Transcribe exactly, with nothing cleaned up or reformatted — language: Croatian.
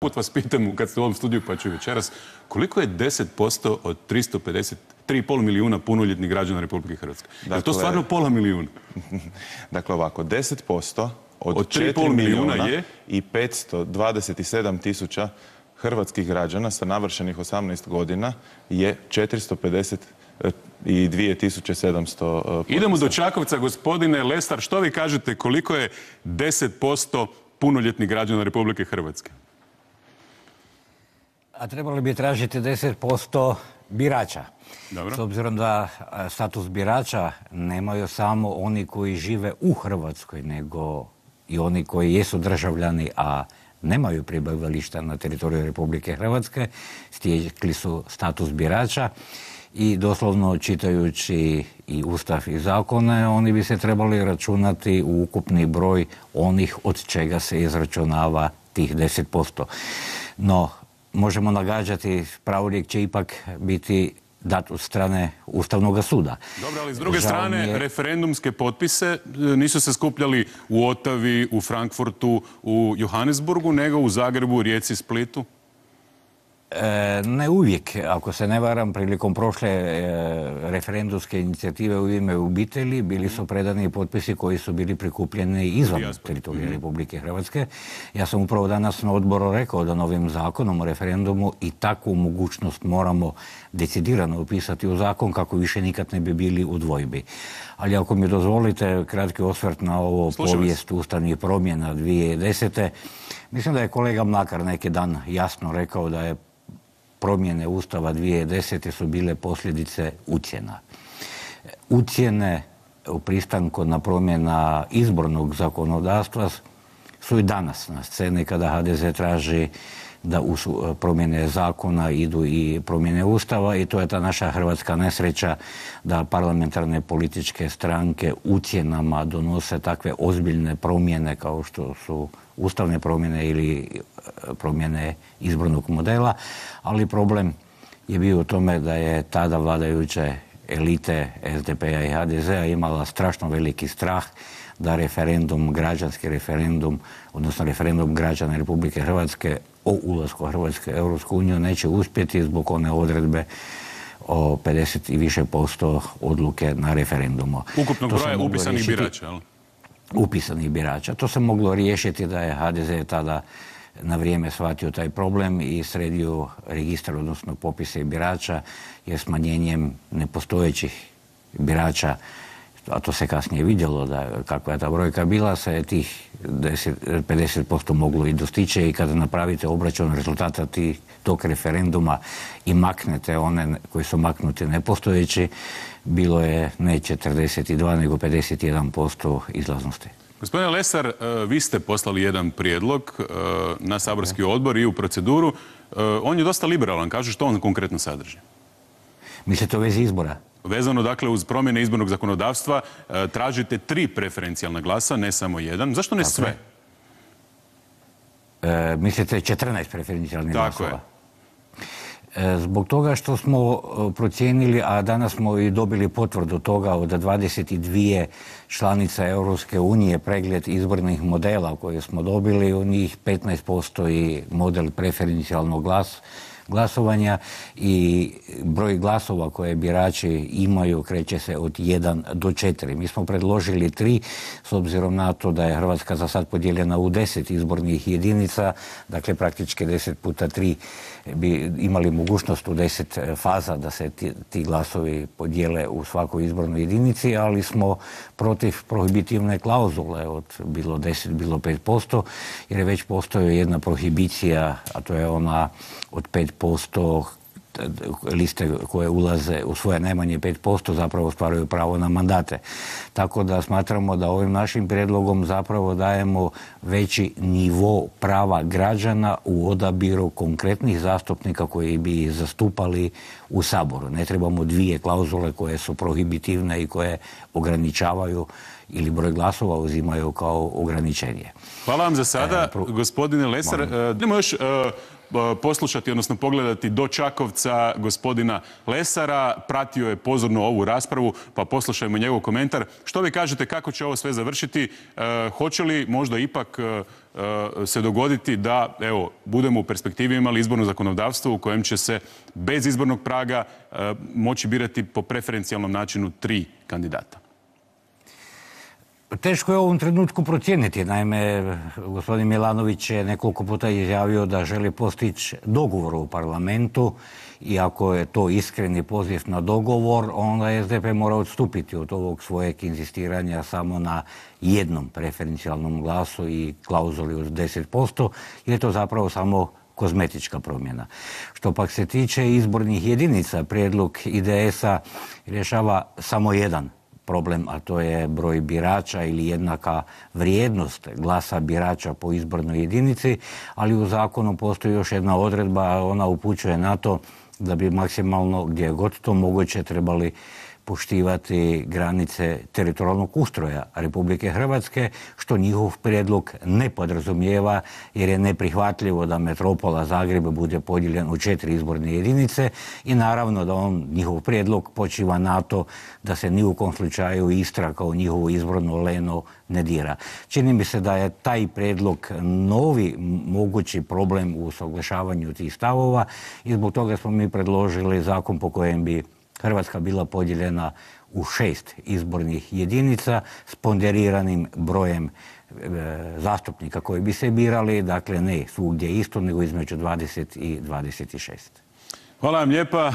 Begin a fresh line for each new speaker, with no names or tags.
Put vas pitam, kad ste u ovom studiju pa ću i večeras, koliko je deset posto od tristo pedeset tri i pol milijuna punoljetnih građana Republike Hrvatske? Dakle, je to stvarno pola milijuna?
Dakle, ovako, deset posto od,
od tri i pol milijuna je
i petsto dvadeset sedam tisuća hrvatskih građana sa navršenih osamnaest godina je četiristo pedeset dvije tisuće sedamsto potpisa.
Idemo do Čakovca, gospodine Lesar, što vi kažete koliko je deset posto punoljetnih građana Republike Hrvatske?
A trebali bi tražiti deset posto birača.
Dobro.
S obzirom da status birača nemaju samo oni koji žive u Hrvatskoj, nego i oni koji jesu državljani, a nemaju prebivališta na teritoriju Republike Hrvatske, stekli su status birača i doslovno čitajući i Ustav i zakone, oni bi se trebali računati u ukupni broj onih od čega se izračunava tih deset posto. No, možemo nagađati, pravorijek će ipak biti dat od strane Ustavnog suda.
Dobro, ali s druge strane, je... referendumske potpise nisu se skupljali u Otavi, u Frankfurtu, u Johannesburgu, nego u Zagrebu, Rijeci, Splitu?
E, ne uvijek. Ako se ne varam, prilikom prošle e, referendumske inicijative u ime obitelji bili su predani potpisi koji su bili prikupljeni izvan teritorija mm-hmm. Republike Hrvatske. Ja sam upravo danas na odboru rekao da novim zakonom o referendumu i takvu mogućnost moramo decidirano upisati u zakon kako više nikad ne bi bili u dvojbi. Ali ako mi dozvolite kratki osvrt na ovo
Slušam
povijest vas. Ustavnih promjena dvije tisuće desete. Mislim da je kolega Mlakar neki dan jasno rekao da je promjene Ustava dvije tisuće desete su bile posljedice ucjena. Ucjene u pristanku na promjena izbornog zakonodavstva su i danas na sceni kada ha de ze traži da u promjene zakona idu i promjene Ustava i to je ta naša hrvatska nesreća da parlamentarne političke stranke ucjenama donose takve ozbiljne promjene kao što su ustavne promjene ili promjene izbornog modela, ali problem je bio u tome da je tada vladajuće elite es de pe-a i ha de ze-a imala strašno veliki strah da referendum, građanski referendum, odnosno referendum građana Republike Hrvatske o ulasku Hrvatske u Europsku uniju neće uspjeti zbog one odredbe o pedeset i više posto odluke na referendumu.
Ukupnog broja upisanih birača, jel?
Upisanih birača. To se moglo riješiti da je ha de ze tada na vrijeme shvatio taj problem i sredio registar, odnosno popise birača, jer smanjenjem nepostojećih birača, a to se kasnije vidjelo da kakva je ta brojka bila, se tih pedeset posto moglo i dostići i kada napravite obračun rezultata tih, tog referenduma i maknete one koji su maknuti nepostojeći, bilo je ne četrdeset dva nego pedeset jedan posto izlaznosti.
Gospodine Lesar, vi ste poslali jedan prijedlog na saborski odbor i u proceduru. On je dosta liberalan. Kažu što on konkretno sadrži?
Mislite u vezi izbora?
Vezano, dakle, uz promjene izbornog zakonodavstva tražite tri preferencijalna glasa, ne samo jedan. Zašto ne sve?
E, mislite četrnaest preferencijalnih
Tako
glasova? Je. Zbog toga što smo procijenili, a danas smo i dobili potvrdu toga od dvadeset dvije članica Europske unije, pregled izbornih modela koje smo dobili, u njih petnaest posto i model preferencijalnog glasa, glasovanja i broj glasova koje birači imaju kreće se od jedan do četiri. Mi smo predložili tri, s obzirom na to da je Hrvatska za sad podijeljena u deset izbornih jedinica, dakle praktički deset puta tri bi imali mogućnost u deset faza da se ti, ti glasovi podijele u svakoj izbornoj jedinici, ali smo protiv prohibitivne klauzule od bilo deset, bilo pet posto, jer je već postoji jedna prohibicija, a to je ona od pet posto liste koje ulaze u svoje najmanje pet posto zapravo ostvaruju pravo na mandate. Tako da smatramo da ovim našim prijedlogom zapravo dajemo veći nivo prava građana u odabiru konkretnih zastupnika koji bi zastupali u Saboru. Ne trebamo dvije klauzule koje su prohibitivne i koje ograničavaju ili broj glasova uzimaju kao ograničenje.
Hvala vam za sada, e, pro... gospodine Lesar. Idemo još poslušati, odnosno pogledati do Čakovca gospodina Lesara. Pratio je pozorno ovu raspravu, pa poslušajmo njegov komentar. Što vi kažete, kako će ovo sve završiti? Hoće li možda ipak se dogoditi da, evo, budemo u perspektivi imali izborno zakonodavstvo u kojem će se bez izbornog praga moći birati po preferencijalnom načinu tri kandidata?
Teško je u ovom trenutku procijeniti. Naime, gospodin Milanović je nekoliko puta izjavio da želi postići dogovor u parlamentu i ako je to iskreni poziv na dogovor, onda S D P mora odstupiti od ovog svojeg inzistiranja samo na jednom preferencijalnom glasu i klauzuli od deset posto, jer je to zapravo samo kozmetička promjena. Što pak se tiče izbornih jedinica, prijedlog I D S-a rješava samo jedan problem, a to je broj birača ili jednaka vrijednost glasa birača po izbornoj jedinici, ali u zakonu postoji još jedna odredba, a ona upućuje na to da bi maksimalno, gdje je god to moguće, trebali poštivati granice teritorijalnog ustroja Republike Hrvatske, što njihov prijedlog ne podrazumijeva, jer je neprihvatljivo da metropola Zagreb bude podijeljen u četiri izborne jedinice i naravno da on, njihov prijedlog počiva na to da se ni u kom slučaju Istra kao njihovo izborno leno ne dira. Čini mi se da je taj prijedlog novi mogući problem u usaglašavanju tih stavova i zbog toga smo mi predložili zakon po kojem bi Hrvatska bila podijeljena u šest izbornih jedinica s ponderiranim brojem e, zastupnika koji bi se birali, dakle ne svugdje isto, nego između dvadeset i dvadeset šest.
Hvala vam lijepa.